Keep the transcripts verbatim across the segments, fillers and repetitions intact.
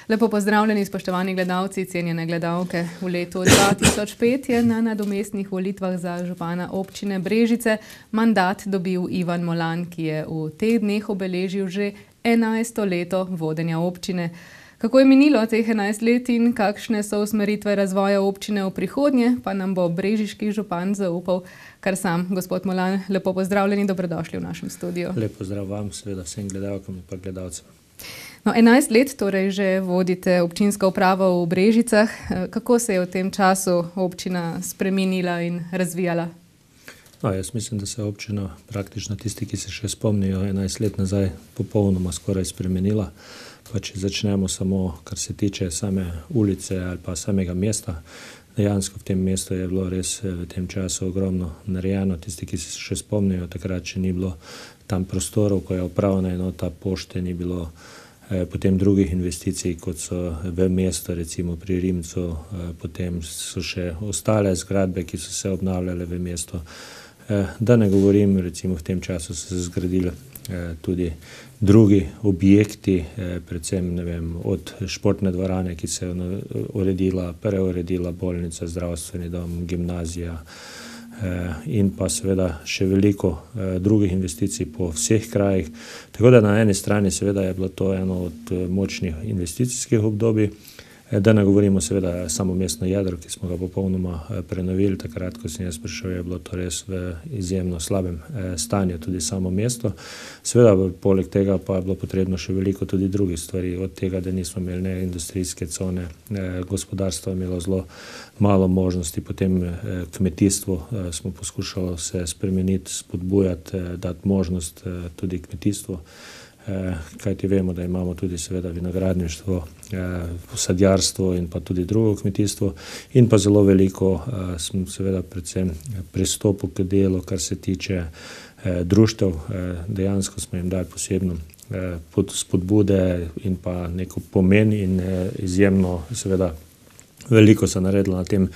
Lepo pozdravljeni, spoštovani gledalci, cenjene gledalke. V letu dva tisoč pet je na nadomestnih volitvah za župana občine Brežice mandat dobil Ivan Molan, ki je v teh dneh obeležil že enajsto leto vodenja občine. Kako je minilo teh enajst let in kakšne so usmeritve razvoja občine v prihodnje, pa nam bo brežiški župan zaupal kar sam. Gospod Molan, lepo pozdravljeni, dobrodošli v našem studiu. Lep pozdrav vam, seveda vsem gledalkam in pa gledalcem. No, enajst let torej že vodite občinsko upravo v Brežicah. Kako se je v tem času občina spremenila in razvijala? No, jaz mislim, da se je občina praktično tisti, ki se še spomnijo enajst let nazaj, popolnoma skoraj spremenila. Pa če začnemo samo, kar se tiče same ulice ali pa samega mesta, dejansko v tem mestu je bilo res v tem času ogromno narejeno. Tisti, ki se še spomnijo, takrat še ni bilo tam prostorov, ko je upravna enota pošte, ni bilo eh, potem drugih investicij, kot so v mesto, recimo pri Rimcu, eh, potem so še ostale zgradbe, ki so se obnavljale v mesto. Eh, da ne govorim, recimo v tem času so se zgradile eh, tudi drugi objekti, eh, predvsem ne vem, od športne dvorane, ki se je uredila, preuredila bolnica, zdravstveni dom, gimnazija, in pa seveda še veliko drugih investicij po vseh krajih. Tako da na eni strani seveda je bilo to eno od močnih investicijskih obdobij, da ne govorimo seveda samo mestno jedro, ki smo ga popolnoma prenovili. Takrat, ko sem jaz prišel, je bilo to res v izjemno slabem stanju, tudi samo mesto. Seveda, poleg tega pa je bilo potrebno še veliko tudi drugih stvari, od tega, da nismo imeli ne industrijske cone, gospodarstvo je imelo zelo malo možnosti, potem kmetijstvo smo poskušali se spremeniti, spodbujati, dati možnost tudi kmetijstvu. Kajti vemo, da imamo tudi seveda vinogradništvo, sadjarstvo in pa tudi drugo kmetijstvo in pa zelo veliko smo seveda predvsem pristopu k delu, kar se tiče društev. Dejansko smo jim dali posebno spodbude in pa neko pomen in izjemno seveda veliko se naredilo na tem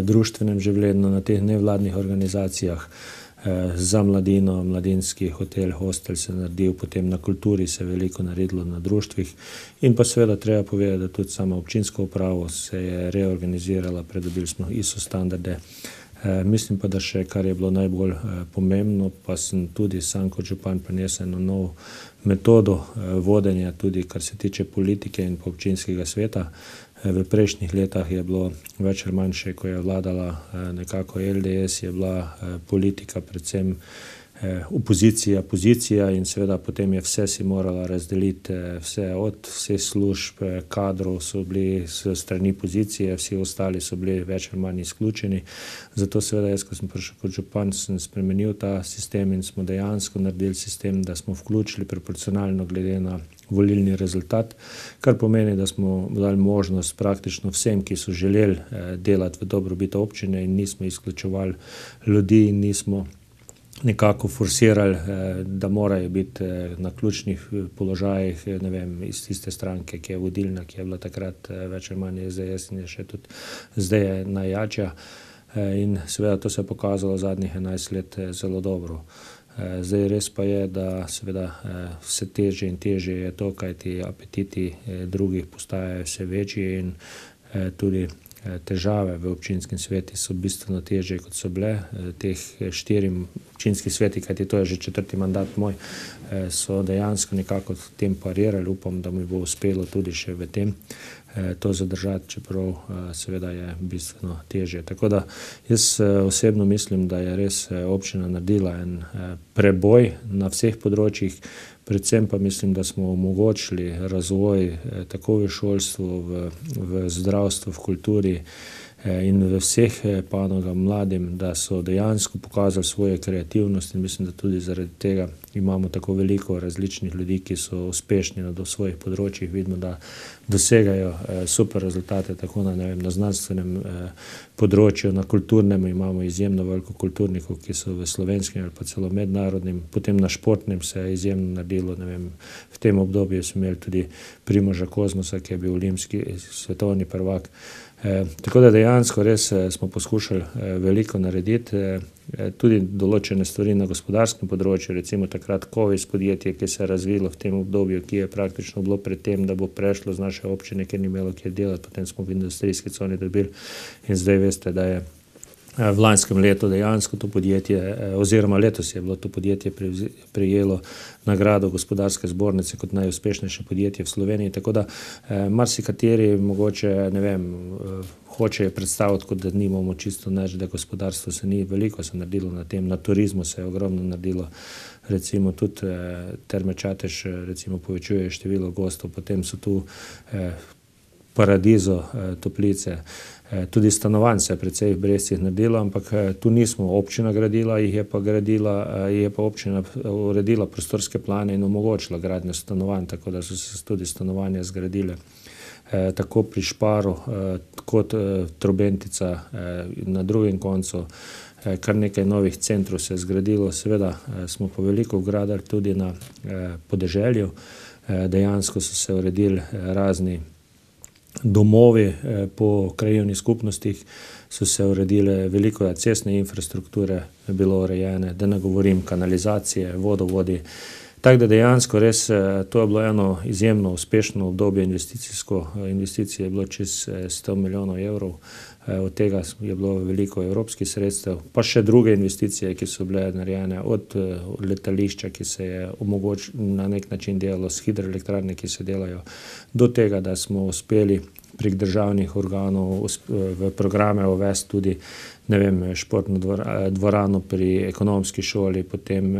društvenem življenju, na teh nevladnih organizacijah. Za mladino, mladinski hotel, hostel se naredil, potem na kulturi se je veliko naredilo na društvih in pa seveda treba povedati, da tudi sama občinska uprava se je reorganizirala, pridobili smo I S O standarde. E, mislim pa, da še kar je bilo najbolj e, pomembno, pa sem tudi sam kot župan prinesel eno novo metodo e, vodenja, tudi kar se tiče politike in pa občinskega sveta. V prejšnjih letah je bilo več ali manj še, ko je vladala nekako L D S, je bila politika predvsem opozicija, pozicija in seveda potem je vse si morala razdeliti, vse od vseh služb, kadrov so bili s strani pozicije, vsi ostali so bili več ali manj izključeni. Zato seveda jaz, ko sem prišel kot župan, sem spremenil ta sistem in smo dejansko naredili sistem, da smo vključili proporcionalno glede na volilni rezultat, kar pomeni, da smo dali možnost praktično vsem, ki so želeli delati v dobrobit občine in nismo izključevali ljudi in nismo nekako forsirali, da morajo biti na ključnih položajih, ne vem, iz tiste stranke, ki je vodilna, ki je bila takrat več ali manj S D S in je še tudi zdaj je najjača. In seveda to se je pokazalo zadnjih enajst let zelo dobro. Zdaj res pa je, da seveda vse težje in težje je to, kaj ti apetiti drugih postajajo vse večji in tudi težave v občinskem sveti so bistveno težje, kot so bile. Teh štirim občinskih sveti, kajti to je že četrti mandat moj, so dejansko nekako tem parirali. Upam, da mi bo uspelo tudi še v tem to zadržati, čeprav seveda je bistveno težje. Tako da jaz osebno mislim, da je res občina naredila en preboj na vseh področjih, predvsem pa mislim, da smo omogočili razvoj tako v šolstvu, v, v zdravstvu, v kulturi in v vseh panogah mladim, da so dejansko pokazali svojo kreativnost in mislim, da tudi zaradi tega imamo tako veliko različnih ljudi, ki so uspešni na svojih področjih. Vidimo, da dosegajo super rezultate tako na, ne vem, na znanstvenem področju, na kulturnem imamo izjemno veliko kulturnikov, ki so v slovenskem ali pa celo mednarodnem, potem na športnem se je izjemno naredilo, ne vem, v tem obdobju smo imeli tudi Primoža Kozmosa, ki je bil olimpijski svetovni prvak. E, tako da dejansko res smo poskušali veliko narediti, e, tudi določene stvari na gospodarskem področju, recimo takrat Kovis podjetje, ki se je razvilo v tem obdobju, ki je praktično bilo pred tem, da bo prešlo z naše občine, ker ni imelo kjer delati, potem smo v industrijski coni dobili in zdaj veste, da je v lanskem letu dejansko to podjetje, oziroma letos je bilo to podjetje prejelo nagrado gospodarske zbornice kot najuspešnejše podjetje v Sloveniji, tako da marsikateri mogoče, ne vem, hoče predstaviti, kot da nimamo čisto nič, da gospodarstvo se ni veliko se naredilo na tem, na turizmu se je ogromno naredilo, recimo tudi Terme Čatež recimo povečuje število gostov, potem so tu Paradizo, Toplice, tudi stanovanj se je precej v Brezcih naredilo, ampak tu nismo občina gradila, jih je pa gradila, je pa občina uredila prostorske plane in omogočila gradnjo stanovanj, tako da so se tudi stanovanja zgradile. Tako pri Šparu kot Trobentica na drugem koncu, kar nekaj novih centrov se je zgradilo, seveda smo pa veliko vgradili tudi na podeželju, dejansko so se uredili razni domovi po krajevnih skupnostih, so se uredile veliko cestne infrastrukture, je bilo urejene, da ne govorim kanalizacije, vodovodi. Tako da dejansko res to je bilo eno izjemno uspešno obdobje investicijsko, investicije je bilo čez sto milijonov evrov, od tega je bilo veliko evropskih sredstev, pa še druge investicije, ki so bile narejene od letališča, ki se je omogočilo na nek način delalo s hidroelektrarne, ki se delajo, do tega, da smo uspeli prek državnih organov v programe uvesti tudi, ne vem, športno dvorano pri ekonomski šoli, potem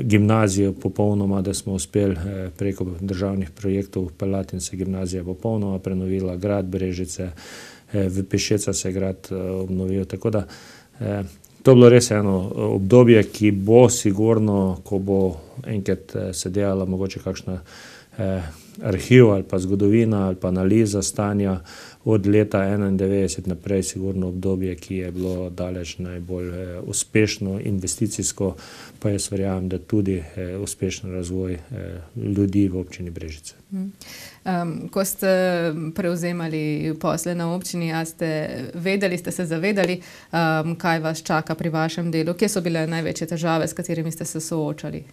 gimnazijo popolnoma, da smo uspeli preko državnih projektov vpeljati in se gimnazija popolnoma prenovila, grad Brežice, v Pešeca se je grad obnovil, tako da to je bilo res eno obdobje, ki bo sigurno, ko bo enkrat se delala mogoče kakšna arhiv ali pa zgodovina ali pa analiza stanja od leta enaindevetdeset naprej, sigurno obdobje, ki je bilo daleč najbolj uspešno investicijsko, pa jaz verjamem, da tudi uspešen razvoj ljudi v občini Brežice. Um, ko ste prevzemali posle na občini, a ste vedeli, ste se zavedali, um, kaj vas čaka pri vašem delu? Kje so bile največje težave, s katerimi ste se soočali?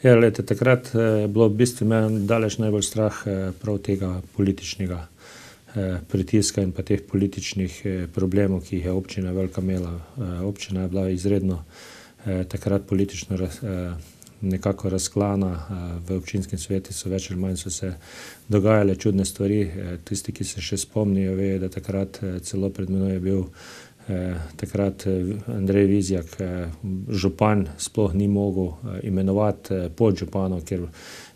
Ja, lete, takrat je bilo v bistvu meni daleč najbolj strah prav tega političnega pritiska in pa teh političnih problemov, ki jih je občina velika imela. Občina je bila izredno takrat politično nekako razklana, v občinskem svetu so več ali manj so se dogajale čudne stvari. Tisti, ki se še spomnijo, vejo, da takrat celo pred menoj je bil takrat Andrej Vizjak, župan, sploh ni mogel imenovati podžupanov, ker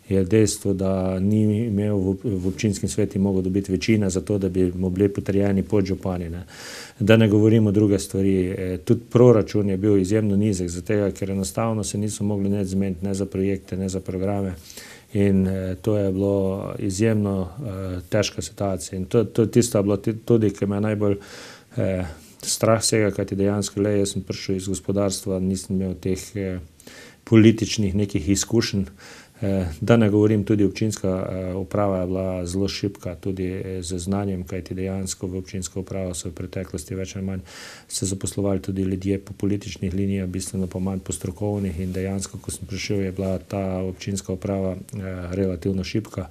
je dejstvo, da ni imel v občinskem svetu mogel dobiti večina za to, da bi mu bili potrjeni podžupani. Ne. Da ne govorimo druge stvari. Tudi proračun je bil izjemno nizek, zato ker enostavno se niso mogli ne zmeniti ne za projekte, ne za programe. In to je bilo izjemno težka situacija. In to, to tisto je bilo tudi, ki me najbolj eh, strah vsega, kajti dejansko le, jaz sem prišel iz gospodarstva, nisem imel teh eh, političnih nekih izkušenj. Da ne govorim, tudi občinska uprava je bila zelo šibka, tudi z znanjem, kajti dejansko v občinsko upravo so v preteklosti več ali manj se zaposlovali tudi ljudje po političnih linijah, bistveno pa manj po strokovnih, in dejansko, ko sem prišel, je bila ta občinska uprava relativno šibka.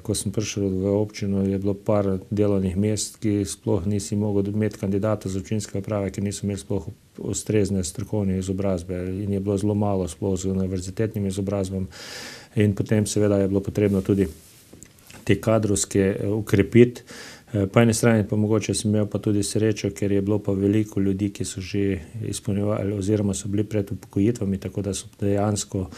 Ko sem prišel v občino, je bilo par delovnih mest, ki sploh nisi mogel imeti kandidata za občinske uprave, ki niso imeli sploh ustrezne strokovne izobrazbe, in je bilo zelo malo sploh z univerzitetnim izobrazbam, in potem seveda je bilo potrebno tudi te kadrovske ukrepiti. Po eni strani pa mogoče sem imel pa tudi srečo, ker je bilo pa veliko ljudi, ki so že izpolnjevali oziroma so bili pred upokojitvami, tako da so dejansko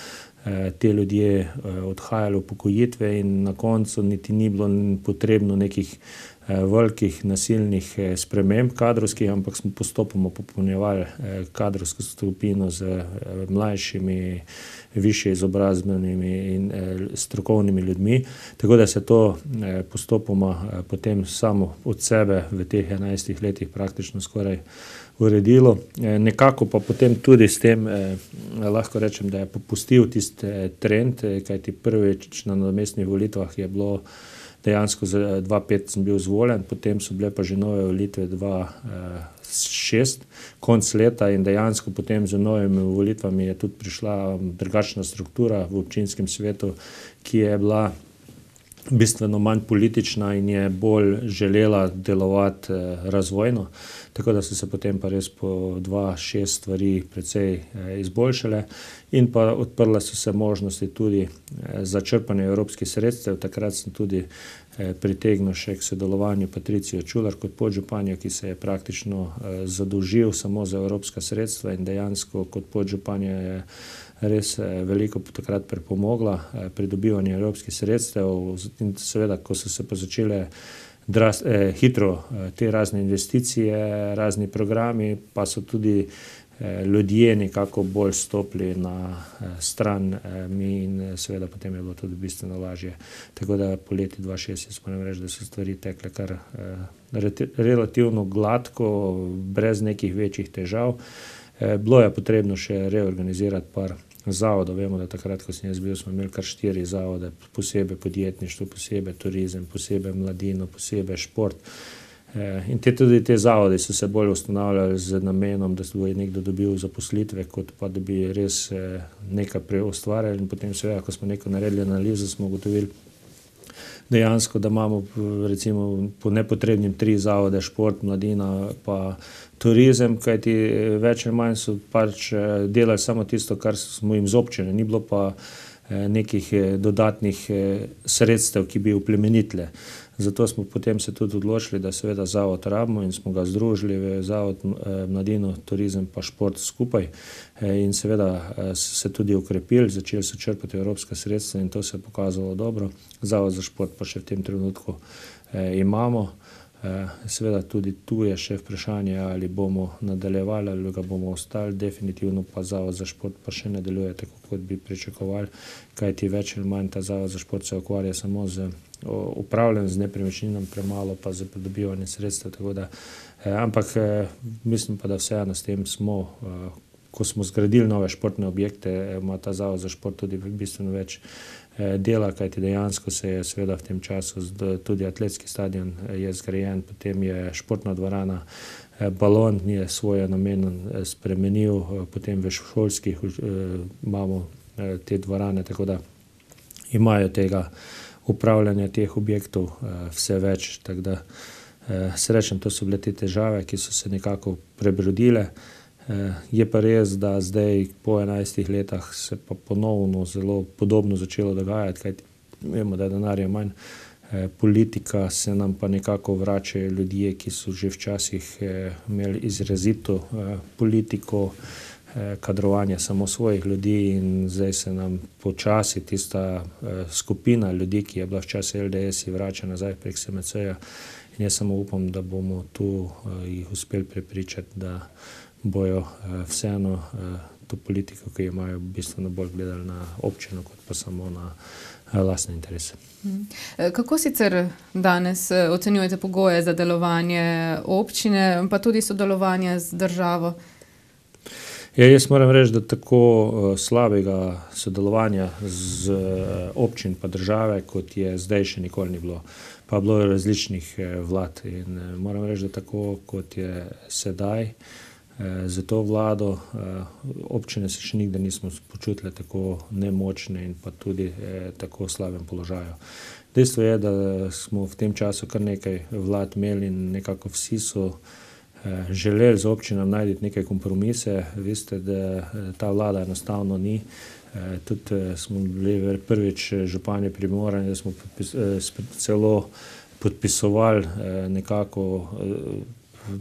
te ljudje odhajali v upokojitve in na koncu niti ni bilo potrebno nekih velikih nasilnih sprememb kadrovskih, ampak smo postopoma popolnjevali kadrovsko skupino z mlajšimi, višje izobrazbenimi in strokovnimi ljudmi, tako da se to postopoma potem samo od sebe v teh enajstih letih praktično skoraj uredilo. Nekako pa potem tudi s tem lahko rečem, da je popustil tisti trend, kajti prvič na nadomestnih volitvah je bilo dejansko za dva pet sem bil izvoljen, potem so bile pa že nove volitve dva šest, konc leta in dejansko potem z novimi volitvami je tudi prišla drugačna struktura v občinskem svetu, ki je bila bistveno manj politična in je bolj želela delovati razvojno. Tako da so se potem pa res po dva šest stvari precej izboljšale in pa odprle so se možnosti tudi za črpanje evropskih sredstev. Takrat sem tudi pritegnil še k sodelovanju Patricijo Čular kot podžupanjo, ki se je praktično zadolžil samo za evropska sredstva in dejansko kot podžupanja je res veliko takrat pripomogla pri dobivanju evropskih sredstev in seveda, ko so se pa začele dras, eh, hitro eh, te razne investicije, razni programi, pa so tudi eh, ljudje nekako bolj stopili na eh, stran eh, mi in seveda potem je bilo tudi bistveno lažje. Tako da po leti dva šest jaz moram reči, da so stvari tekle kar eh, relativno gladko, brez nekih večjih težav. Eh, bilo je potrebno še reorganizirati par zavodov. Vemo, da takrat, ko sem jaz bil, smo imeli kar štiri zavode, posebej podjetništvo, posebej turizem, posebej mladino, posebej šport. E, in te, tudi te zavode so se bolj ustanavljali z namenom, da bo nekdo dobil zaposlitve, kot pa da bi res e, nekaj preustvarjali. In potem seveda, ko smo nekaj naredili analizo, smo ugotovili dejansko, da imamo recimo po nepotrebnim tri zavode, šport, mladina pa turizem, kajti več ali manj so pač delali samo tisto, kar smo jim z občine, ni bilo pa nekih dodatnih sredstev, ki bi uplemenitile. Zato smo potem se tudi odločili, da seveda zavod rabimo in smo ga združili v zavod mladino, turizem pa šport skupaj in seveda se tudi ukrepili, začeli so črpati evropska sredstva in to se je pokazalo dobro. Zavod za šport pa še v tem trenutku imamo. Seveda tudi tu je še vprašanje, ali bomo nadaljevali ali ga bomo ostali, definitivno pa zavod za šport pa še nadaljuje tako, kot bi pričakovali, kajti več ali manj ta zavod za šport se ukvarja samo z upravljanjem z nepremičninom, premalo pa za pridobivanje sredstev, tako da, ampak mislim pa, da vseeno s tem smo, ko smo zgradili nove športne objekte, ima ta zavod za šport tudi bistveno več dela, kajti dejansko se je seveda v tem času tudi atletski stadion je zgrajen, potem je športna dvorana, balon je svoje namen spremenil, potem v šolskih imamo te dvorane, tako da imajo tega upravljanja teh objektov vse več, tako da srečem, to so bile te težave, ki so se nekako prebrodile. Je pa res, da zdaj po enajstih letah se pa ponovno zelo podobno začelo dogajati, kajti vemo, da denarja manj, politika se nam pa nekako vračajo ljudje, ki so že včasih imeli izrazito politiko, kadrovanje samo svojih ljudi in zdaj se nam počasi tista skupina ljudi, ki je bila včasih L D S, vrača nazaj prek S M C-ja in jaz samo upam, da bomo tu jih uspeli prepričati, da bojo vseeno to politiko, ki imajo bistveno bolj gledali na občino, kot pa samo na lastne interese. Kako sicer danes ocenjujete pogoje za delovanje občine, pa tudi sodelovanje z državo? Ja, jaz moram reči, da tako slabega sodelovanja z občin pa države, kot je zdaj, še nikoli ni bilo. Pa bilo je različnih vlad in moram reči, da tako, kot je sedaj, za to vlado občine se še nikdar nismo počutile tako nemočne in pa tudi tako slabem položaju. Dejstvo je, da smo v tem času kar nekaj vlad imeli in nekako vsi so želeli z občinam najti neke kompromise. Veste, da ta vlada enostavno ni. Tudi smo bili prvič župani primorani, da smo celo podpisovali nekako,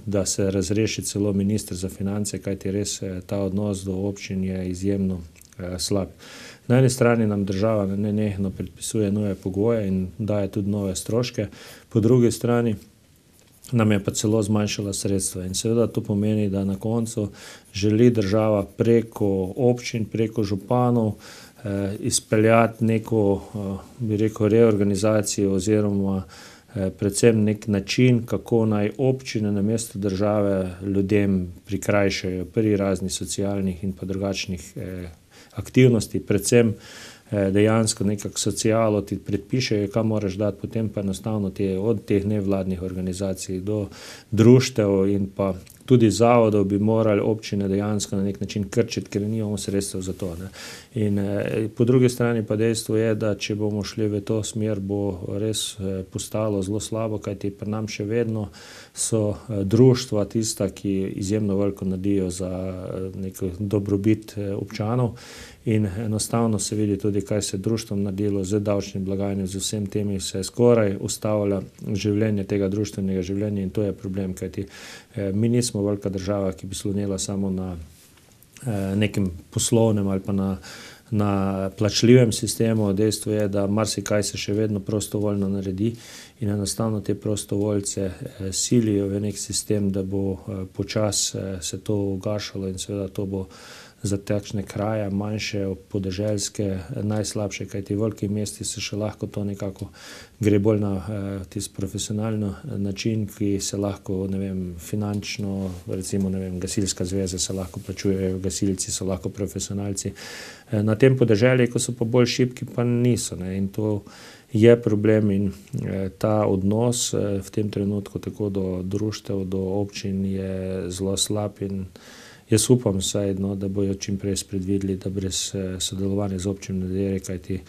da se razreši celo minister za finance, kajti res ta odnos do občin je izjemno slab. Na eni strani nam država nenehno predpisuje nove pogoje in daje tudi nove stroške, po drugi strani nam je pa celo zmanjšala sredstva. In seveda to pomeni, da na koncu želi država preko občin, preko županov eh, izpeljati neko, eh, bi rekel, reorganizacijo oziroma eh, predvsem nek način, kako naj občine namesto države ljudem prikrajšajo pri raznih socialnih in pa drugačnih eh, aktivnosti, predvsem dejansko nekako socialo ti predpišejo, kam moraš dati, potem pa enostavno te, od teh nevladnih organizacij do društev in pa tudi zavodov bi morali občine dejansko na nek način krčiti, ker nimamo sredstev za to. Ne. In eh, po drugi strani pa dejstvo je, da če bomo šli v to smer, bo res eh, postalo zelo slabo, kajti pri nam še vedno so eh, društva tista, ki izjemno veliko naredijo za eh, neko dobrobit eh, občanov. In enostavno se vidi tudi, kaj se društvom naredilo z davčnim blagajnim, z vsem temi se skoraj ustavlja življenje tega društvenega življenja in to je problem, kajti eh, mi nismo velika država, ki bi slonila samo na eh, nekem poslovnem ali pa na, na plačljivem sistemu. Dejstvo je, da marsikaj se še vedno prostovoljno naredi in enostavno te prostovoljce eh, silijo v nek sistem, da bo eh, počas eh, se to ugašalo in seveda to bo za takšne kraje, manjše, podeželske, najslabše, kajti v velikih mestih se še lahko to nekako gre bolj na eh, tisti profesionalno način, ki se lahko, ne vem, finančno, recimo, ne vem, gasilska zveza se lahko plačujejo, gasilci so lahko profesionalci. Eh, na tem podeželju, ko so pa bolj šibki, pa niso, ne, in to je problem in eh, ta odnos eh, v tem trenutku tako do društev, do občin je zelo slab in jaz upam vsaj, no, da bojo čim prej spredvideli, da brez eh, sodelovanja z občinami ne dere, kajti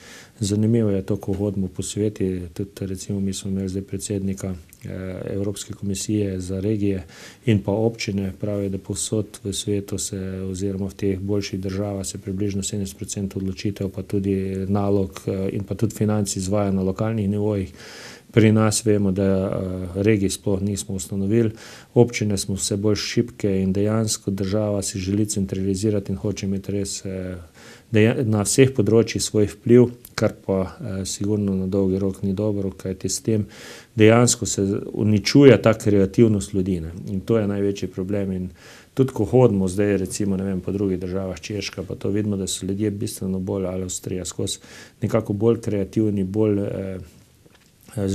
zanimivo je to, ko hodimo po sveti, tudi recimo mi smo imeli zdaj predsednika eh, Evropske komisije za regije in pa občine, pravijo, da povsod v svetu se oziroma v teh boljših državah se približno sedemdeset procentov odločitev pa tudi nalog eh, in pa tudi financ izvaja na lokalnih nivojih. Pri nas vemo, da uh, regij sploh nismo ustanovili, občine smo vse bolj šibke in dejansko država si želi centralizirati in hoče imeti res uh, na vseh področjih svoj vpliv, kar pa uh, sigurno na dolgi rok ni dobro, kajti s tem dejansko se uničuje ta kreativnost ljudi, ne? In to je največji problem. In tudi ko hodimo zdaj recimo, ne vem, po drugih državah, Češka, pa to vidimo, da so ljudje bistveno bolj, ali Avstrija, skozi nekako bolj kreativni, bolj uh,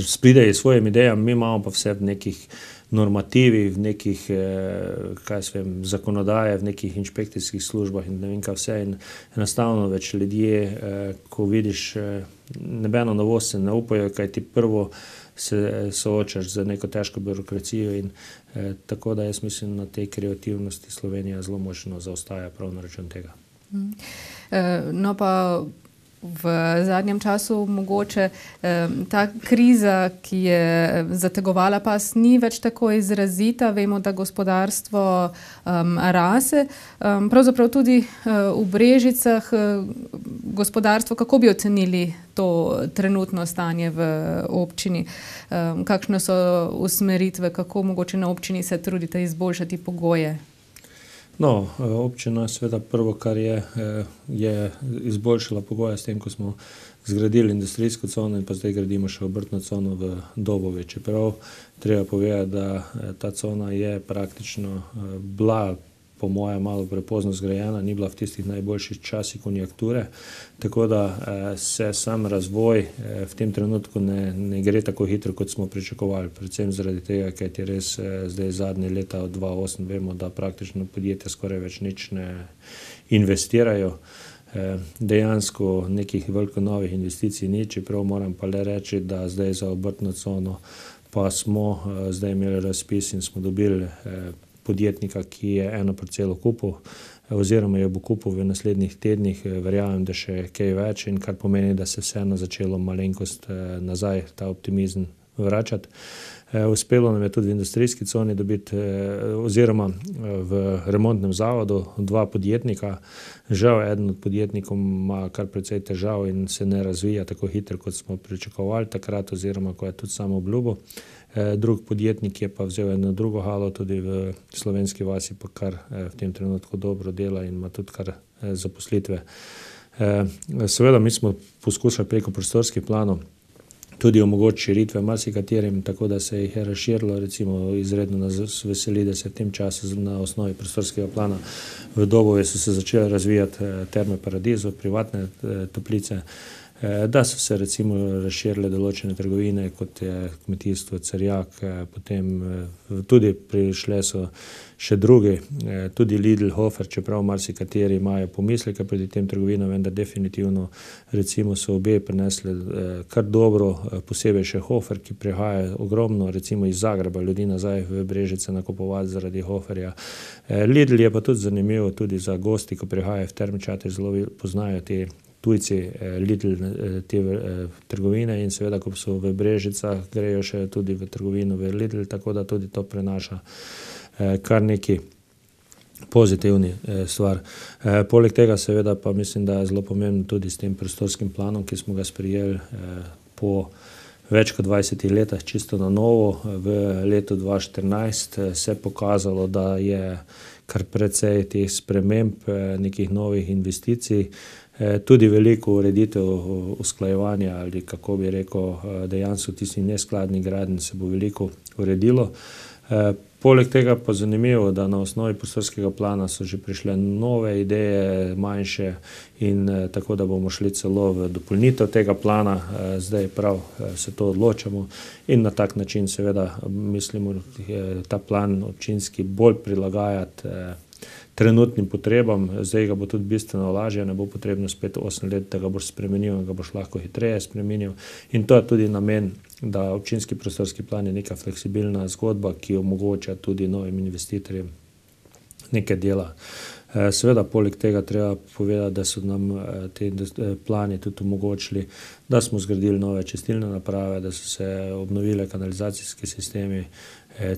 spridejo s svojimi idejami, mi imamo pa vse v nekih normativih, v nekih, kaj se vem, zakonodaje, v nekih inšpekcijskih službah in ne vem kaj vse in enostavno več ljudje, ko vidiš nobeno novost se ne upajo, kaj ti prvo se soočaš z neko težko birokracijo in eh, tako da jaz mislim, na tej kreativnosti Slovenija zelo močno zaostaja prav na račun tega. Mm. No pa v zadnjem času mogoče ta kriza, ki je zategovala pas, ni več tako izrazita. Vemo, da gospodarstvo um, rase. Um, pravzaprav tudi uh, v Brežicah uh, gospodarstvo, kako bi ocenili to trenutno stanje v občini? Um, kakšne so usmeritve, kako mogoče na občini se trudite izboljšati pogoje? No, občina seveda prvo, kar je, je izboljšala pogoje s tem, ko smo zgradili industrijsko cono in pa zdaj gradimo še obrtno cono v Dobovi. Čeprav treba povedati, da ta cona je praktično bila po moje malo prepozno zgrajena, ni bila v tistih najboljših časih konjunkture, tako da se sam razvoj v tem trenutku ne, ne gre tako hitro, kot smo pričakovali. Predvsem zaradi tega, ker je res zdaj zadnje leta od dva tisoč osem vemo, da praktično podjetja skoraj več nič ne investirajo. Dejansko nekih veliko novih investicij ni, čeprav moram pa le reči, da zdaj za obrtno cono pa smo zdaj imeli razpis in smo dobili podjetnika, ki je eno parcelo kupil oziroma jo bo kupil v naslednjih tednih, verjamem, da še kaj več in kar pomeni, da se vseeno začelo malenkost nazaj ta optimizem vračati. Uspelo nam je tudi v industrijski coni dobiti oziroma v remontnem zavodu dva podjetnika. Žal, eden od podjetnikov ima kar precej težav in se ne razvija tako hitro, kot smo pričakovali takrat oziroma ko je tudi samo obljubo. Drug podjetnik je pa vzel eno drugo halo tudi v Slovenski vasi, pa kar v tem trenutku dobro dela in ima tudi kar zaposlitve. Seveda mi smo poskušali preko prostorskih planov tudi omogočiti širitve marsikaterim, tako da se jih je razširilo, recimo izredno nas veseli, da se v tem času na osnovi prostorskega plana v Dobovi so se začele razvijati terme Paradizo, privatne toplice. da so se recimo razširile določene trgovine, kot je kmetijstvo, Cerjak, potem tudi prišle so še drugi, tudi Lidl, Hofer, čeprav marsikateri imajo pomisleke proti tem trgovinam, vendar definitivno recimo so obe prinesli kar dobro, posebej še Hofer, ki prihaja ogromno recimo iz Zagreba ljudi nazaj v Brežice nakupovati zaradi Hoferja. Lidl je pa tudi zanimivo tudi za gosti, ko prihajajo v Terme Čatež, zelo poznajo te tujci Lidl te trgovine in seveda, ko so v Brežicah, grejo še tudi v trgovino v Lidl, tako da tudi to prenaša kar neki pozitivni stvar. Poleg tega seveda pa mislim, da je zelo pomembno tudi s tem prostorskim planom, ki smo ga sprejeli po več kot dvajsetih letih čisto na novo. V letu dva štirinajst se je pokazalo, da je kar precej teh sprememb, nekih novih investicij, tudi veliko ureditev usklajevanja ali kako bi rekel, dejansko tisti neskladni gradenj se bo veliko uredilo. Poleg tega pa zanimivo, da na osnovi prostorskega plana so že prišle nove ideje, manjše in tako, da bomo šli celo v dopolnitev tega plana, zdaj prav se to odločamo in na tak način seveda mislimo ta plan občinski bolj prilagajati trenutnim potrebam, zdaj ga bo tudi bistveno lažje, ne bo potrebno spet osem let, da ga boš spremenil in ga boš lahko hitreje spremenil in to je tudi namen, da občinski prostorski plan je neka fleksibilna zgodba, ki omogoča tudi novim investitorjem nekaj dela. Seveda, poleg tega treba povedati, da so nam te plani tudi omogočili, da smo zgradili nove čistilne naprave, da so se obnovile kanalizacijski sistemi,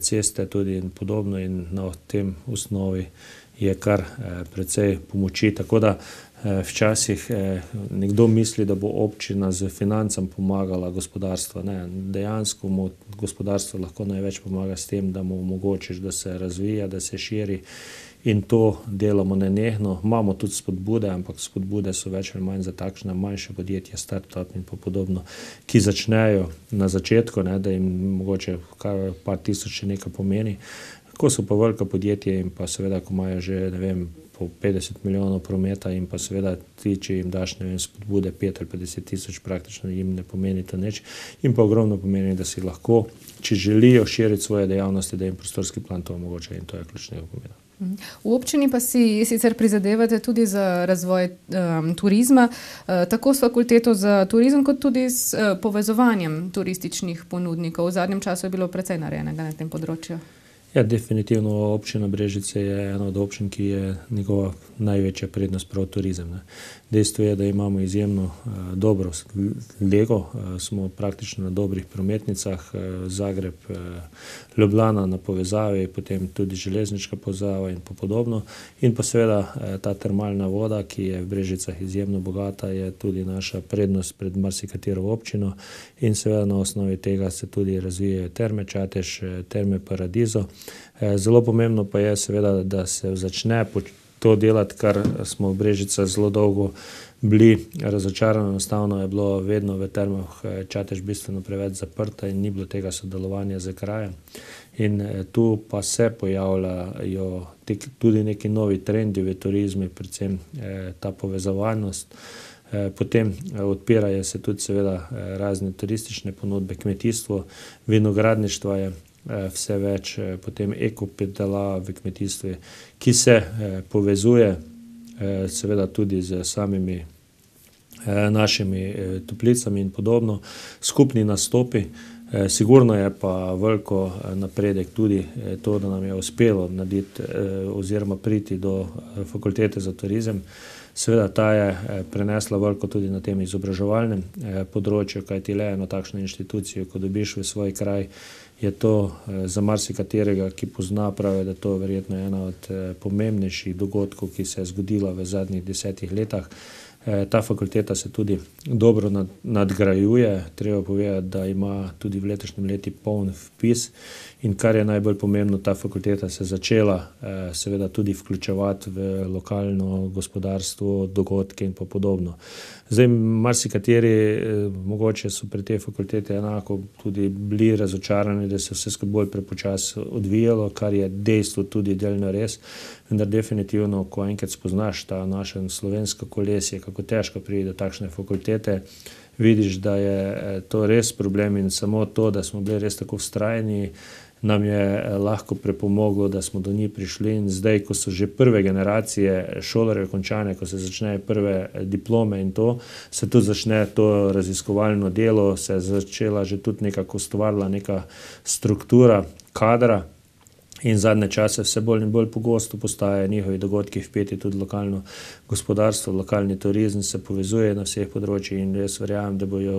ceste tudi in podobno in na tem osnovi je kar precej pomoči, tako da včasih nekdo misli, da bo občina z financam pomagala gospodarstvo. Ne, dejansko mu gospodarstvo lahko največ pomaga s tem, da mu omogočiš, da se razvija, da se širi in to delamo nenehno. Imamo tudi spodbude, ampak spodbude so več ali manj za takšne manjše podjetja, start-up in podobno, ki začnejo na začetku, ne, da jim mogoče kar par tisoč še nekaj pomeni. Ko so pa velika podjetja in pa seveda, ko imajo že, ne vem, po petdeset milijonov prometa in pa seveda ti, če jim daš, ne vem, spodbude pet ali petdeset tisoč, praktično jim ne pomeni to nič in pa ogromno pomeni, da si lahko, če želijo širiti svoje dejavnosti, da jim prostorski plan to omogoča in to je ključnega pomena. V občini pa si sicer prizadevate tudi za razvoj um, turizma, uh, tako s fakulteto za turizem, kot tudi s uh, povezovanjem turističnih ponudnikov. V zadnjem času je bilo precej narejenega na tem področju. Ja, definitivno občina Brežice je ena od občin, ki je njegova največja prednost prav turizem. Ne. Dejstvo je, da imamo izjemno uh, dobro lego, uh, smo praktično na dobrih prometnicah, uh, Zagreb, uh, Ljubljana na povezavi, potem tudi železniška povezava in podobno. In pa seveda uh, ta termalna voda, ki je v Brežicah izjemno bogata, je tudi naša prednost pred marsikatero občino in seveda na osnovi tega se tudi razvijajo Terme Čatež, Terme Paradizo. Zelo pomembno pa je seveda, da se začne to delati, kar smo v Brežicah zelo dolgo bili razočarani. Enostavno je bilo vedno v Termah Čatež bistveno preveč zaprta in ni bilo tega sodelovanja z krajem. In tu pa se pojavljajo tudi neki novi trendi v turizmu, predvsem ta povezovalnost. Potem odpirajo se tudi seveda razne turistične ponudbe, kmetijstvo, vinogradništvo je vse več, potem ekopedala v kmetijstvu, ki se povezuje seveda tudi z samimi našimi toplicami in podobno, skupni nastopi. Sigurno je pa veliko napredek tudi to, da nam je uspelo narediti oziroma priti do fakultete za turizem. Seveda ta je prenesla veliko tudi na tem izobraževalnem področju, kajti le eno takšno inštitucijo, ko dobiš v svoj kraj, je to za marsikaterega, ki pozna, pravi, da to verjetno ena od pomembnejših dogodkov, ki se je zgodila v zadnjih desetih letih. Ta fakulteta se tudi dobro nadgrajuje, treba povedati, da ima tudi v letošnjem leti poln vpis in kar je najbolj pomembno, ta fakulteta se začela seveda tudi vključevati v lokalno gospodarstvo, dogodke in pa podobno. Zdaj, marsikateri mogoče so pri tej fakulteti enako tudi bili razočarani, da se vse skupaj bolj prepočasi odvijalo, kar je dejstvo tudi delno res, vendar definitivno, ko enkrat spoznaš ta naše slovensko kolesje, kako kako težko pride do takšne fakultete, vidiš, da je to res problem in samo to, da smo bili res tako vztrajni, nam je lahko pripomoglo, da smo do njih prišli in zdaj, ko so že prve generacije šolarjev končane, ko se začnejo prve diplome in to, se tudi začne to raziskovalno delo, se je začela že tudi nekako ustvarila neka struktura kadra in zadnje čase vse bolj in bolj pogosto postajajo njihovi dogodki vpeti tudi lokalno gospodarstvo, lokalni turizem se povezuje na vseh področjih in jaz verjamem, da bojo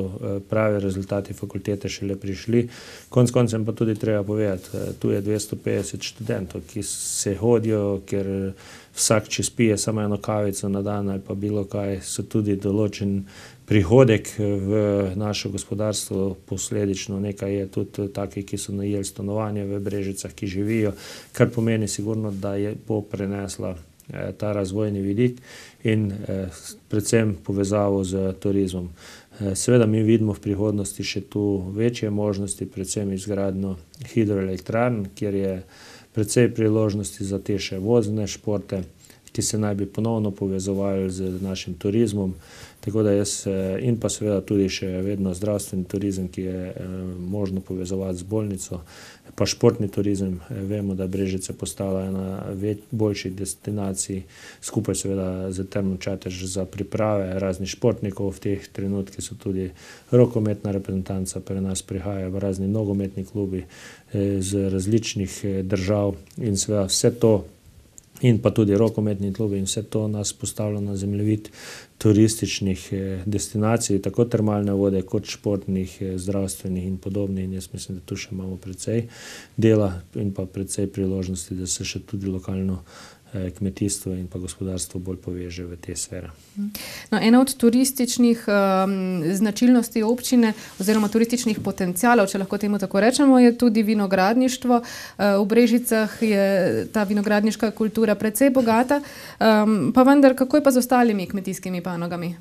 pravi rezultati fakultete šele prišli. Konec koncem pa tudi treba povedati, tu je dvesto petdeset študentov, ki se hodijo, ker vsak čez pije samo eno kavico na dan ali pa bilo kaj, so tudi določen prihodek v naše gospodarstvo, posledično nekaj je tudi taki, ki so najeli stanovanje v Brežicah, ki živijo, kar pomeni sigurno, da je bo prenesla eh, ta razvojni vidik in eh, predvsem povezavo z turizmom. Eh, seveda mi vidimo v prihodnosti še tu večje možnosti, predvsem izgradnjo hidroelektrarn, kjer je precej priložnosti za te še vozne športe, ki se naj bi ponovno povezovali z našim turizmom. Tako da jaz in pa seveda tudi še vedno zdravstveni turizem, ki je eh, možno povezovati z bolnico, pa športni turizem. Vemo, da Brežice postala ena več, boljših destinacij, skupaj seveda z Termom Čatež za priprave raznih športnikov. V teh trenutkih so tudi rokometna reprezentanca pri nas prihaja v razni nogometni klubi eh, z različnih eh, držav in seveda vse to in pa tudi rokometni klubi in vse to nas postavlja na zemljevid turističnih destinacij, tako termalne vode kot športnih, zdravstvenih in podobnih. In jaz mislim, da tu še imamo precej dela in pa precej priložnosti, da se še tudi lokalno kmetijstvo in pa gospodarstvo bolj poveže v te sfere. No, ena od turističnih um, značilnosti občine oziroma turističnih potencialov, če lahko temu tako rečemo, je tudi vinogradništvo. Uh, v Brežicah je ta vinogradniška kultura precej bogata, um, pa vendar, kako je pa z ostalimi kmetijskimi panogami?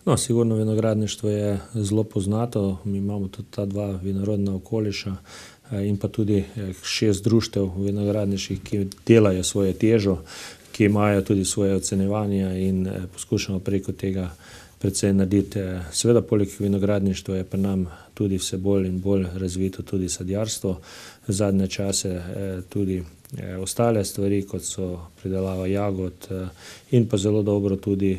No, sigurno vinogradništvo je zelo poznato. Mi imamo tudi ta dva vinorodna okoliša in pa tudi šest društev vinogradniških, ki delajo svoje težo, ki imajo tudi svoje ocenjevanja in poskušamo preko tega predvsem narediti. Seveda, poleg vinogradništva je pri nam tudi vse bolj in bolj razvito tudi sadjarstvo. Zadnje čase tudi ostale stvari, kot so pridelava jagod in pa zelo dobro tudi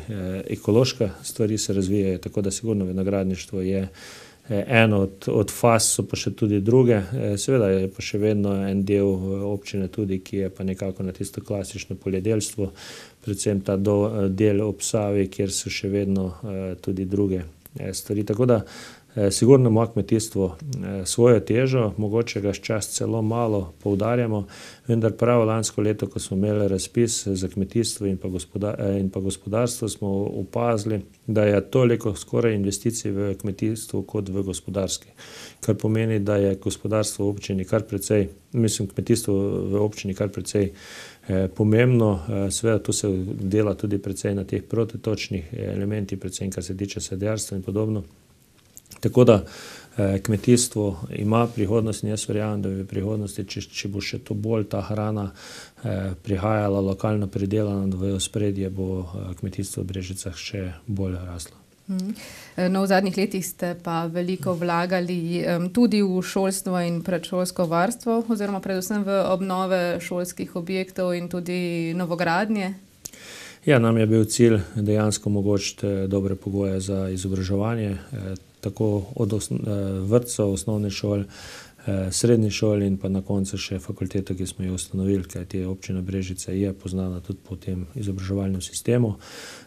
ekološke stvari se razvijajo, tako da sigurno vinogradništvo je eno od, od faz, so pa še tudi druge. Seveda je pa še vedno en del občine tudi, ki je pa nekako na tisto klasično poljedelstvo, predvsem ta do, del ob Savi, kjer so še vedno tudi druge stvari. Tako da sigurno ima kmetijstvo svojo težo, mogoče ga čas celo malo poudarjamo, vendar prav lansko leto, ko smo imeli razpis za kmetijstvo in pa, gospodar, in pa gospodarstvo, smo opazili, da je toliko skoraj investicij v kmetijstvo kot v gospodarski. Kar pomeni, da je gospodarstvo v občini kar precej, mislim, kmetijstvo v občini kar precej eh, pomembno. Eh, seveda tu se dela tudi precej na teh protitočnih elementih, predvsem kar se tiče sadjarstva in podobno. Tako da eh, kmetijstvo ima prihodnost in jaz verjamem, da v prihodnosti, če, če bo še to bolj ta hrana eh, prihajala lokalno pridelana v ospredje, bo eh, kmetijstvo v Brežicah še bolj raslo. No, v zadnjih letih ste pa veliko vlagali um, tudi v šolstvo in predšolsko varstvo oziroma predvsem v obnove šolskih objektov in tudi novogradnje. Ja, nam je bil cilj dejansko omogočiti dobre pogoje za izobraževanje, eh, tako od osno, eh, vrtcev, osnovne šol, eh, srednje šol in pa na koncu še fakulteto, ki smo jo ustanovili, kajti občina Brežice je poznana tudi po tem izobraževalnem sistemu.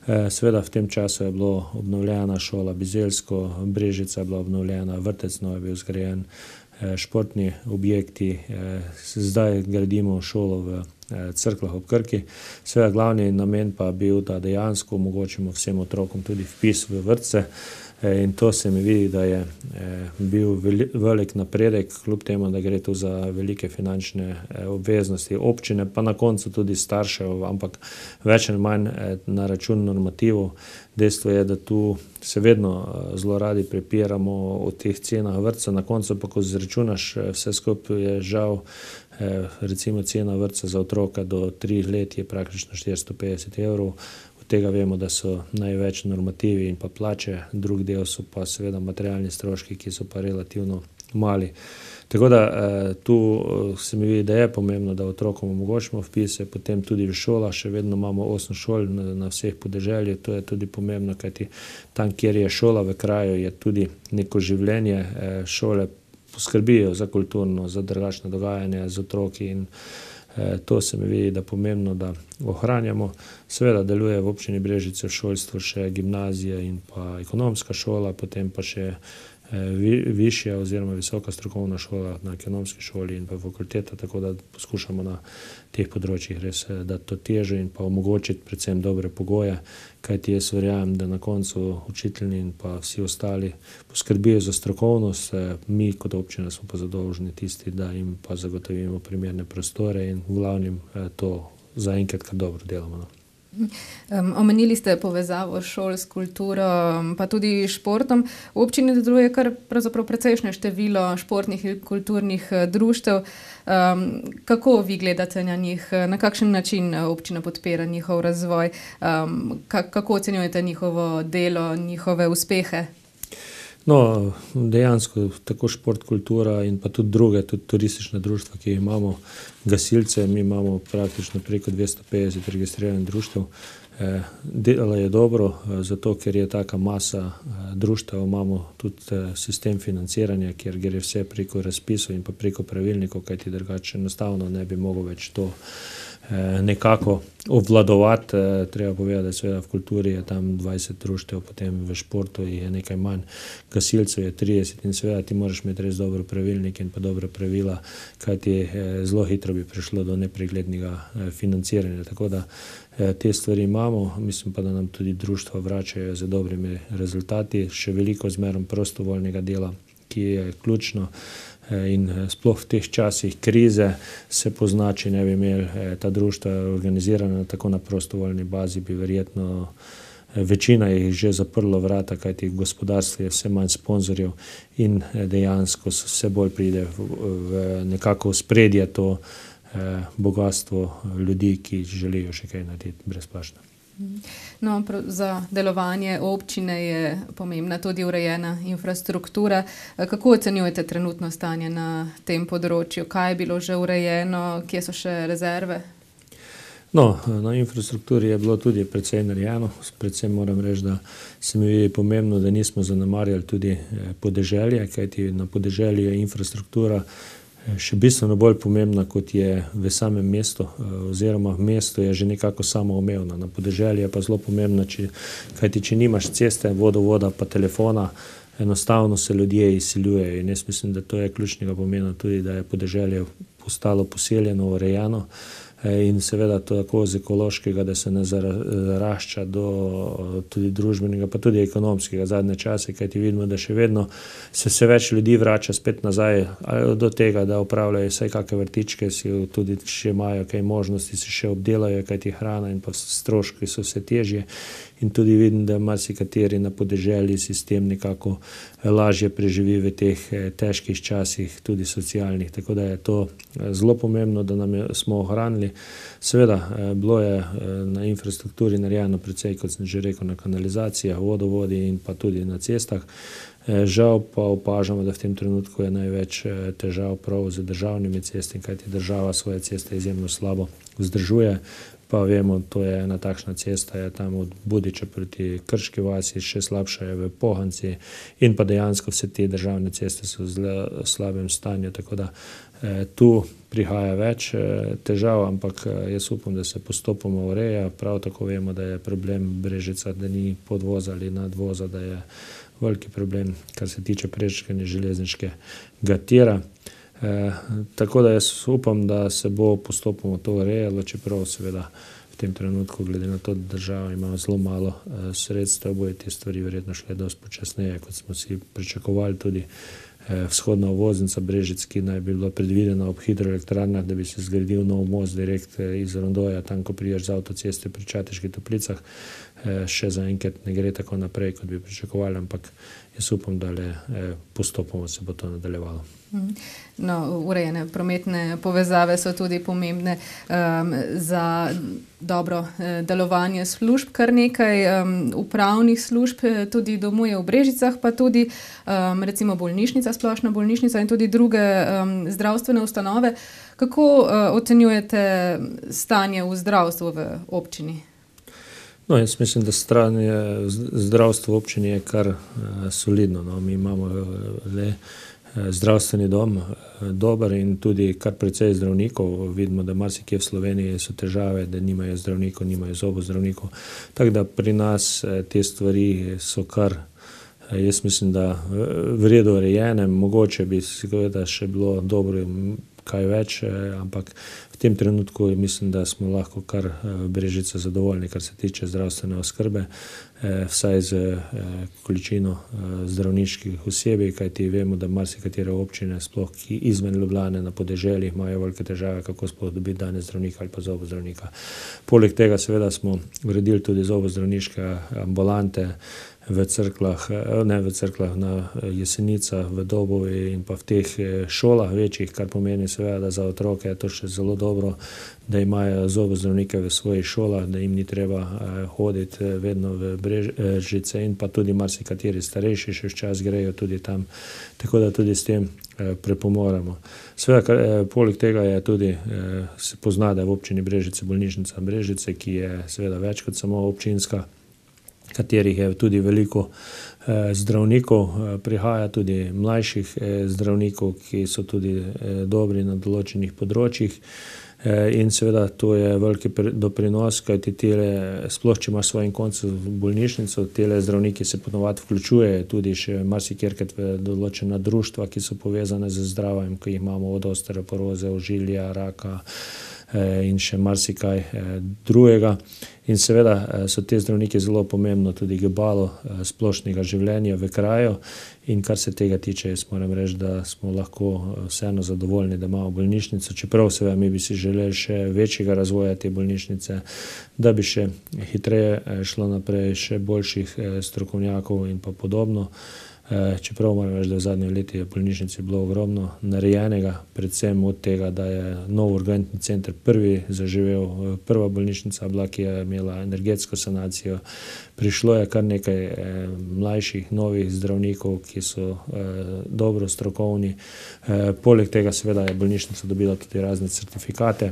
Eh, seveda v tem času je bilo obnovljena šola Bizeljsko, Brežica je bila obnovljena, vrtec nov je bil zgrajen, eh, športni objekti, eh, zdaj gradimo šolo v Cerklah ob Krki. Seveda glavni namen pa bil, da dejansko omogočimo vsem otrokom tudi vpis v vrtce in to se mi vidi, da je bil velik napredek, kljub temu, da gre tu za velike finančne obveznosti občine, pa na koncu tudi staršev, ampak več ali manj na račun normativov. Dejstvo je, da tu se vedno zelo radi prepiramo o teh cenah vrtca, na koncu pa, ko zračunaš vse skupaj, je žal recimo cena vrtca za otroka do treh let je praktično štiristo petdeset evrov, v tega vemo, da so največ normativi in pa plače, drug del so pa seveda materialni stroški, ki so pa relativno mali. Tako da tu se mi vidi, da je pomembno, da otrokom omogočimo vpise, potem tudi v šolah, še vedno imamo osem šol na, na vseh podeželjih, to je tudi pomembno, kajti tam, kjer je šola v kraju, je tudi neko življenje, šole poskrbijo za kulturno, za drugačne dogajanje z otroki in to se mi vidi, da pomembno, da ohranjamo. Seveda deluje v občini Brežice v šolstvu še gimnazija in pa ekonomska šola, potem pa še višja oziroma visoka strokovna šola na ekonomski šoli in pa fakulteta, tako da poskušamo na teh področjih res dati to težo in pa omogočiti predvsem dobre pogoje, kajti jaz verjamem, da na koncu učitelji in pa vsi ostali poskrbijo za strokovnost, mi kot občina smo pa zadolženi tisti, da jim pa zagotovimo primerne prostore in v glavnem to zaenkrat kar dobro delamo. No. Um, omenili ste povezavo šol s kulturo, pa tudi športom. V občini deluje kar pravzaprav precejšnje število športnih in kulturnih društev. Um, kako vi gledate na njih? Na kakšen način občina podpira njihov razvoj? Um, kako ocenjujete njihovo delo, njihove uspehe? No, dejansko tako šport, kultura in pa tudi druge, tudi turistične društva, ki imamo, gasilce, mi imamo praktično preko dvesto petdeset registriranih društev. Delo je dobro, zato ker je taka masa društev, imamo tudi sistem financiranja, kjer gre vse preko razpisov in pa preko pravilnikov, kajti drugače enostavno ne bi mogel več to nekako obvladovati. Treba povedati, da seveda v kulturi je tam dvajset društev, potem v športu je nekaj manj, gasilcev je trideset in seveda ti moraš imeti res dobro pravilnik in pa dobra pravila, kajti zelo hitro bi prišlo do nepreglednega financiranja. Tako da te stvari imamo, mislim pa, da nam tudi društva vračajo z dobrimi rezultati, še veliko zmerom prostovoljnega dela, ki je ključno. In sploh v teh časih krize se pozna, če ne bi imeli ta društva organizirana tako na prostovoljni bazi, bi verjetno večina jih že zaprlo vrata, kajti gospodarstvo je vse manj sponzorjev in dejansko vse bolj pride v nekako spredje to bogatstvo ljudi, ki želijo še kaj narediti brezplačno. No, za delovanje občine je pomembna tudi urejena infrastruktura. Kako ocenjujete trenutno stanje na tem področju? Kaj je bilo že urejeno? Kje so še rezerve? No, na infrastrukturi je bilo tudi precej narejeno. Predvsem moram reči, da se mi vidi pomembno, da nismo zanemarjali tudi podeželje, kajti na podeželju je infrastruktura še bistveno bolj pomembna, kot je v samem mestu, oziroma v mestu je že nekako samoumevna. Na podeželju je pa zelo pomembna, če, kajti če nimaš ceste, vodovoda pa telefona, enostavno se ljudje izseljujejo in jaz mislim, da to je ključnega pomena tudi, da je podeželje postalo poseljeno, urejeno in seveda to tako z ekološkega, da se ne zarašča do tudi družbenega, pa tudi ekonomskega zadnje čase, kajti vidimo, da še vedno se vse več ljudi vrača spet nazaj do tega, da upravljajo vsaj kakve vrtičke, si tudi še imajo kaj možnosti, se še obdelajo, kajti hrana in pa stroški so vse težje in tudi vidim, da marsikateri na podeželji sistem nekako lažje preživi v teh težkih časih, tudi socialnih, tako da je to zelo pomembno, da nam je, smo ohranili. Seveda, bilo je na infrastrukturi narejeno precej, kot sem že rekel, na kanalizacijah, vodovodi in pa tudi na cestah. Žal pa opažamo, da v tem trenutku je največ težav prav z državnimi cestami, kajti država svoje ceste izjemno slabo vzdržuje. Pa vemo, to je ena takšna cesta, je tam od Budiča proti Krški vasi, še slabša je v Pohanci in pa dejansko vse te državne ceste so v zelo slabem stanju, tako da eh, tu prihaja več eh, težav, ampak eh, jaz upam, da se postopoma ureja. Prav tako vemo, da je problem Brežica, da ni podvoza ali nadvoza, da je veliki problem, kar se tiče prečkanja železniškega tira. Eh, tako da jaz upam, da se bo postopoma to urejalo, čeprav seveda v tem trenutku, glede na to, da država ima zelo malo eh, sredstev, bojo te stvari verjetno šle dosti počasneje, kot smo si pričakovali. Tudi eh, vzhodna obvoznica Brežic, ki naj bi bila predvidena ob hidroelektrarnah, da bi se zgradil nov most direkt iz Rondoja, tam, ko priješ z avtoceste pri Čateških Toplicah. še zaenkrat ne gre tako naprej, kot bi pričakovali, ampak jaz upam, da le postopoma se bo to nadaljevalo. No, urejene prometne povezave so tudi pomembne um, za dobro eh, delovanje služb. Kar nekaj um, upravnih služb tudi domuje v Brežicah, pa tudi um, recimo bolnišnica, splošna bolnišnica in tudi druge um, zdravstvene ustanove. Kako uh, ocenjujete stanje v zdravstvu v občini? No, jaz mislim, da stanje zdravstva v občini je kar uh, solidno. No. Mi imamo le zdravstveni dom dober in tudi kar precej zdravnikov. Vidimo, da marsikje v Sloveniji so težave, da nimajo zdravnikov, nimajo zobozdravnikov. Tako da pri nas te stvari so kar, jaz mislim, da v redu urejene. Mogoče bi seveda še bilo dobro kaj več, ampak v tem trenutku mislim, da smo lahko kar v Brežicah zadovoljni, kar se tiče zdravstvene oskrbe, vsaj z količino zdravniških osebij, kajti vemo, da marsikatere občine, sploh ki izven Ljubljane na podeželju, imajo velike težave, kako sploh dobiti danes zdravnika ali pa zobozdravnika. Poleg tega seveda smo uredili tudi zobozdravniške ambulante v Cerkljah, ne v Cerkljah, na Jesenicah, v Dobovi in pa v teh šolah večjih, kar pomeni seveda, da za otroke je to še zelo dobro, da imajo zobozdravnike v svojih šolah, da jim ni treba hoditi vedno v Brežice in pa tudi marsikateri starejši še včasih grejo tudi tam, tako da tudi s tem prepomoremo. Seveda, poleg tega je tudi, se pozna, da je v občini Brežice bolnišnica Brežice, ki je seveda več kot samo občinska, katerih je tudi veliko zdravnikov, prihaja tudi mlajših zdravnikov, ki so tudi dobri na določenih področjih. In seveda to je veliki doprinos, kajti tele, sploh če imaš svojim koncu bolnišnico, tele zdravniki se ponovadi vključujejo tudi še marsikjerkrat v določena društva, ki so povezane z zdravjem, ki jih imamo od osteoporoze, ožilja, raka in še marsikaj drugega. In seveda so te zdravniki zelo pomembno tudi gibalo splošnega življenja v kraju in kar se tega tiče, jaz moram reči, da smo lahko vseeno zadovoljni, da imamo bolnišnico, čeprav seveda mi bi si želeli še večjega razvoja te bolnišnice, da bi še hitreje šlo naprej, še boljših strokovnjakov in pa podobno. Čeprav moram reči, da v zadnjem letu je v bolnišnici bilo ogromno narejenega, predvsem od tega, da je nov urgentni center prvi zaživel, prva bolnišnica bila, ki je imela energetsko sanacijo. Prišlo je kar nekaj mlajših, novih zdravnikov, ki so dobro strokovni. Poleg tega seveda je bolnišnica dobila tudi razne certifikate,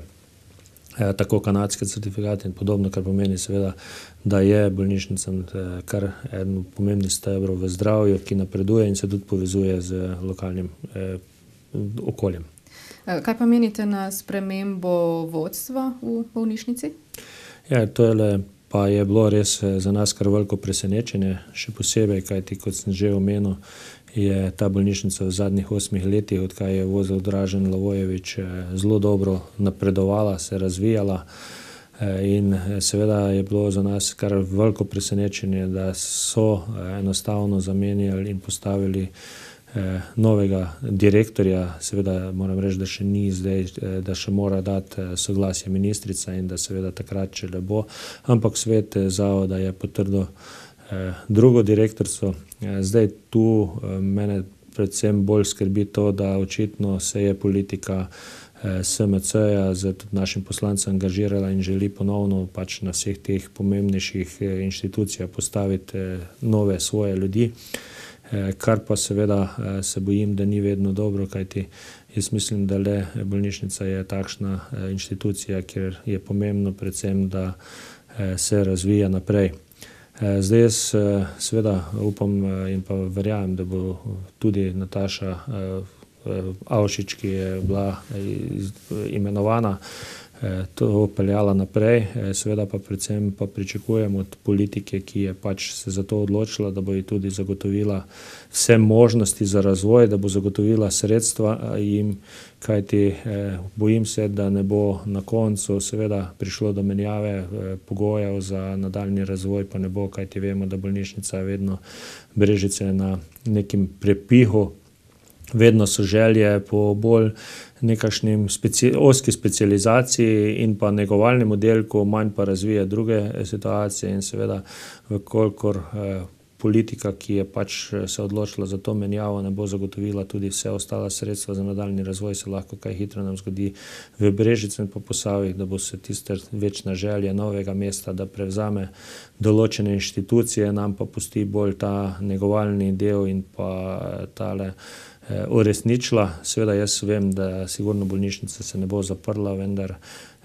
tako kanadske certifikate in podobno, kar pomeni seveda, da je bolnišnica kar eden pomembnih stebrov v zdravju, ki napreduje in se tudi povezuje z lokalnim eh, okoljem. Kaj pa menite na spremembo vodstva v bolnišnici? Ja, to je le, pa je bilo res za nas kar veliko presenečenje, še posebej, kajti kot sem že omenil, je ta bolnišnica v zadnjih osmih letih, odkar je vozil Dražen Lavojevič, zelo dobro napredovala, se razvijala in seveda je bilo za nas kar veliko presenečenje, da so enostavno zamenjali in postavili novega direktorja. Seveda moram reči, da še ni zdaj, da še mora dati soglasje ministrica in da seveda takrat, če le bo, ampak svet zavoda je potrdil drugo direktorstvo. Zdaj tu mene predvsem bolj skrbi to, da očitno se je politika S M C-ja z tudi našim poslancem angažirala in želi ponovno pač na vseh teh pomembnejših inštitucijah postaviti nove svoje ljudi, kar pa seveda se bojim, da ni vedno dobro, kajti jaz mislim, da le bolnišnica je takšna inštitucija, kjer je pomembno predvsem, da se razvija naprej. Zdaj jaz seveda upam in pa verjamem, da bo tudi Nataša Avšič, ki je bila imenovana, to peljala naprej. Seveda pa predvsem pa pričakujem od politike, ki je pač se za to odločila, da bo ji tudi zagotovila vse možnosti za razvoj, da bo zagotovila sredstva jim, kajti bojim se, da ne bo na koncu seveda prišlo do menjave pogojev za nadaljnji razvoj, pa ne bo, kajti vemo, da bolnišnica je vedno Brežice na nekim prepihu. Vedno so želje po bolj nekašnim speci, oski specializaciji in pa negovalnem oddelku, manj pa razvije druge situacije in seveda, vkolikor eh, politika, ki je pač se odločila za to menjavo, ne bo zagotovila tudi vse ostala sredstva za nadaljnji razvoj, se lahko kaj hitro nam zgodi v Brežici in po Posavjih, da bo se tiste večna želja novega mesta, da prevzame določene inštitucije, nam pa pusti bolj ta negovalni del in pa tale eh, uresničila. Seveda jaz vem, da sigurno bolnišnica se ne bo zaprla, vendar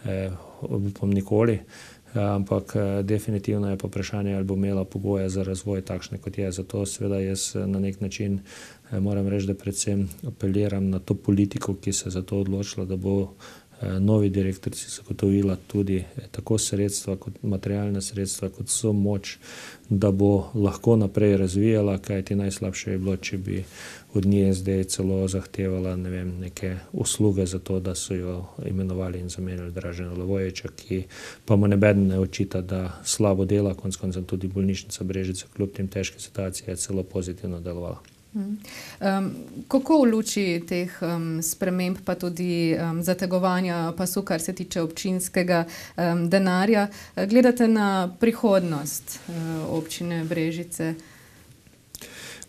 eh, upam nikoli. Ampak definitivno je pa vprašanje, ali bo imela pogoje za razvoj takšne, kot je. Zato seveda jaz na nek način moram reči, da predvsem apeliram na to politiko, ki se za to odločila, da bo novi direktorici zagotovila tudi tako sredstva, kot materialne sredstva, kot so moč, da bo lahko naprej razvijala, kajti najslabše je bilo, če bi od nje zdaj celo zahtevala, ne vem, neke usluge za to, da so jo imenovali in zamenjali Dražena Levojevića, ki pa mu nebeden ne očita, da slabo dela, konec koncev tudi bolnišnica Brežice, kljub tem težke situacije, je celo pozitivno delovala. Um, kako v luči teh um, sprememb pa tudi um, zategovanja pasu, kar se tiče občinskega um, denarja, gledate na prihodnost uh, občine Brežice?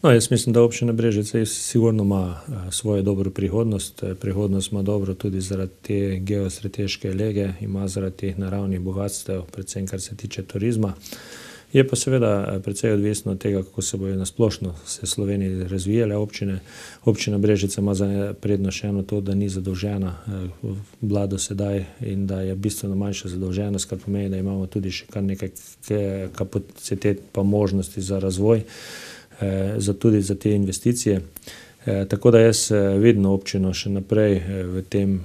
No, jaz mislim, da občina Brežice sigurno ima uh, svojo dobro prihodnost. Prihodnost ima dobro tudi zaradi te geostrateške lege, ima zaradi teh naravnih bogatstev, predvsem kar se tiče turizma. Je pa seveda precej odvisno od tega, kako se bojo nasplošno se Sloveniji razvijale občine. Občina Brežice ima za prednost še eno to, da ni zadolžena bila do sedaj in da je bistveno manjša zadolženost, kar pomeni, da imamo tudi še kar nekaj kapacitet pa možnosti za razvoj, za tudi za te investicije. Tako da jaz vidim občino še naprej v tem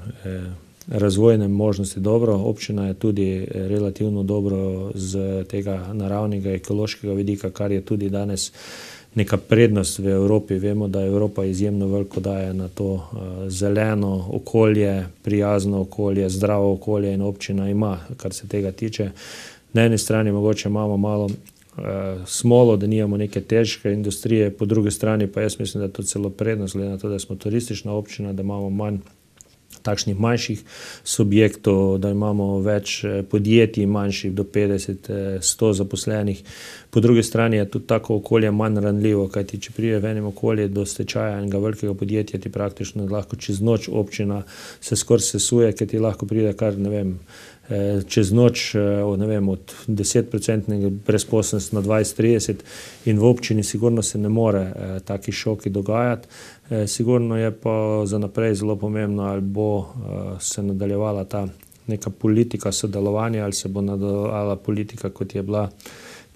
razvojne možnosti dobro. Občina je tudi relativno dobro z tega naravnega ekološkega vidika, kar je tudi danes neka prednost v Evropi. Vemo, da Evropa izjemno veliko daje na to uh, zeleno okolje, prijazno okolje, zdravo okolje in občina ima, kar se tega tiče. Na eni strani mogoče imamo malo uh, smolo, da nimamo neke težke industrije, po drugi strani pa jaz mislim, da je to celo prednost, glede na to, da smo turistična občina, da imamo manj takšnih manjših subjektov, da imamo več podjetij manjših do petdeset do sto zaposlenih. Po drugi strani je tudi tako okolje manj ranljivo, kajti če pride v enem okolje do stečaja enega velikega podjetja, ti praktično lahko čez noč občina se skoraj sesuje, ker ti lahko pride kar, ne vem, čez noč, ne vem, od deset procentnega brezposelnosti na dvajset trideset in v občini sigurno se ne more taki šoki dogajati. Sigurno je pa za naprej zelo pomembno, ali bo se nadaljevala ta neka politika sodelovanja, ali se bo nadaljevala politika, kot je bila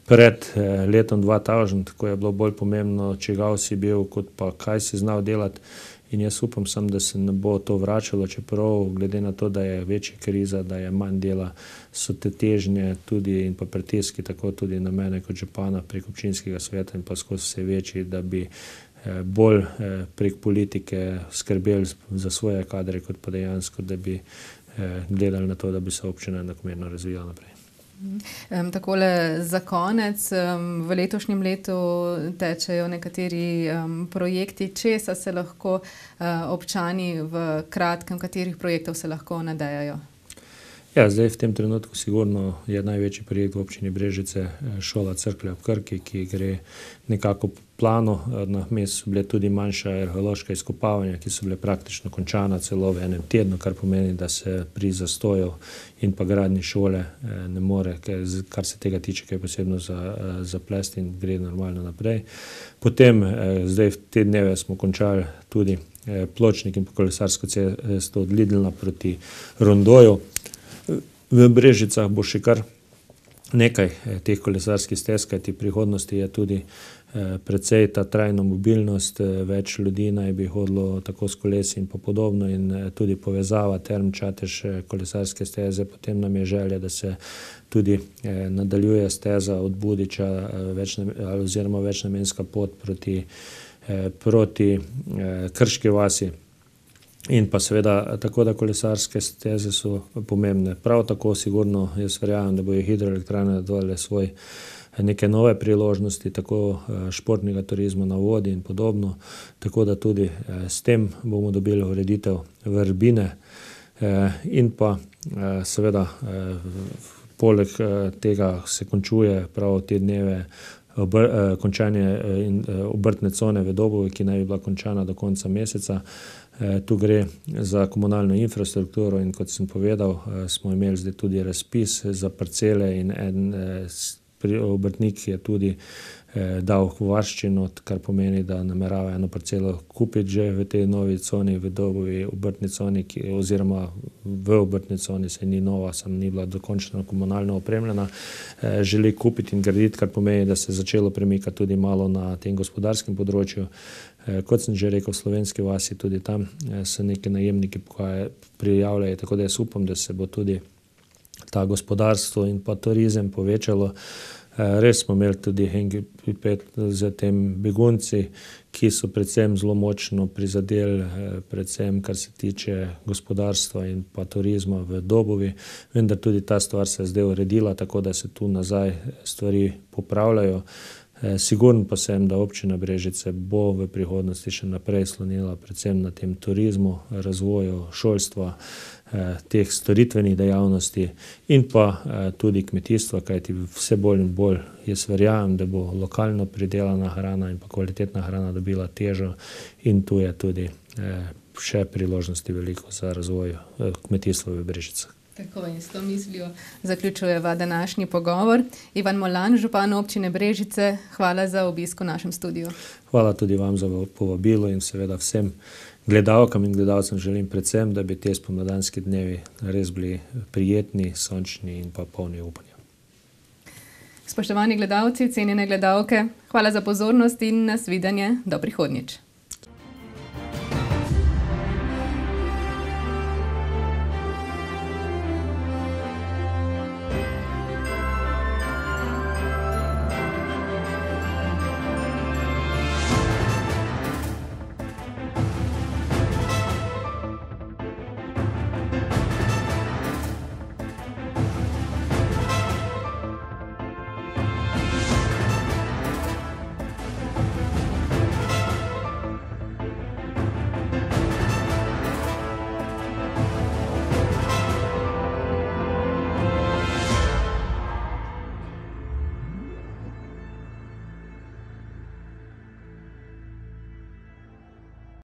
pred letom dva tisoč, ko je bilo bolj pomembno, čigav si bil, kot pa kaj si znal delati. In jaz upam sam, da se ne bo to vračalo, čeprav glede na to, da je večja kriza, da je manj dela, so te težnje tudi in pa pritiski tako tudi na mene kot župana prek občinskega sveta in pa skozi vse večji, da bi bolj prek politike skrbeli za svoje kadre, kot pa dejansko, da bi gledali na to, da bi se občina enakomerno razvijala naprej. Um, takole za konec, um, v letošnjem letu tečejo nekateri um, projekti, česa se lahko uh, občani v kratkem, katerih projektov se lahko nadejajo? Ja, zdaj v tem trenutku sigurno je največji projekt v občini Brežice šola Cerklje ob Krki, ki gre nekako po planu. Na mestu so bile tudi manjša arheološka izkopavanja, ki so bile praktično končana celo v enem tednu, kar pomeni, da se pri zastoju in pa gradnji šole ne more, kar se tega tiče, kaj je posebno za, za plest in gre normalno naprej. Potem, zdaj v te dneve smo končali tudi pločnik in kolesarsko cesto od Lidlna proti Rondoju. V Brežicah bo še kar nekaj teh kolesarskih stez, kajti v prihodnosti je tudi precej ta trajna mobilnost, več ljudi naj bi hodilo tako s kolesi in pa podobno in tudi povezava Term Čatež kolesarske steze. Potem nam je želja, da se tudi nadaljuje steza od Budiča oziroma večnamenska pot proti, proti Krški vasi. In pa seveda tako, da kolesarske steze so pomembne. Prav tako sigurno jaz verjamem, da bojo hidroelektrarne dodale svoj neke nove priložnosti, tako športnega turizma na vodi in podobno. Tako da tudi s tem bomo dobili ureditev Vrbine in pa seveda poleg tega se končuje prav te dneve Obr, končanje obrtne cone v Dobovi, ki naj bi bila končana do konca meseca. Tu gre za komunalno infrastrukturo in kot sem povedal, smo imeli zdaj tudi razpis za parcele in en obrtnik je tudi dal varščino, kar pomeni, da namerava eno parcelo kupiti že v tej novi coni, v Dobovi obrtni coni, ki, oziroma v obrtni coni se ni nova, sem ni bila dokončno komunalno opremljena, želi kupiti in graditi, kar pomeni, da se je začelo premikati tudi malo na tem gospodarskem področju. Kot sem že rekel, v Slovenski vasi tudi tam se neki najemniki prijavljajo, tako da jaz upam, da se bo tudi ta gospodarstvo in pa turizem povečalo. Res smo imeli tudi hendikep z tem begunci, ki so predvsem zelo močno prizadeli, predvsem kar se tiče gospodarstva in pa turizma v Dobovi, vendar tudi ta stvar se je zdaj uredila, tako da se tu nazaj stvari popravljajo. Sigurno pa sem, da občina Brežice bo v prihodnosti še naprej slonila predvsem na tem turizmu, razvoju šolstva, teh storitvenih dejavnosti in pa tudi kmetijstva, kajti vse bolj in bolj jaz verjamem, da bo lokalno pridelana hrana in pa kvalitetna hrana dobila težo in tu je tudi še priložnosti veliko za razvoj kmetijstva v Brežicah. Tako in s to mislijo zaključujeva današnji pogovor. Ivan Molan, župan občine Brežice, hvala za obisk v našem studiu. Hvala tudi vam za povabilo in seveda vsem gledalkam in gledalcem želim predvsem, da bi te spomladanski dnevi res bili prijetni, sončni in pa polni upanja. Spoštovani gledalci, cenjene gledalke, hvala za pozornost in nasvidenje do prihodnjič.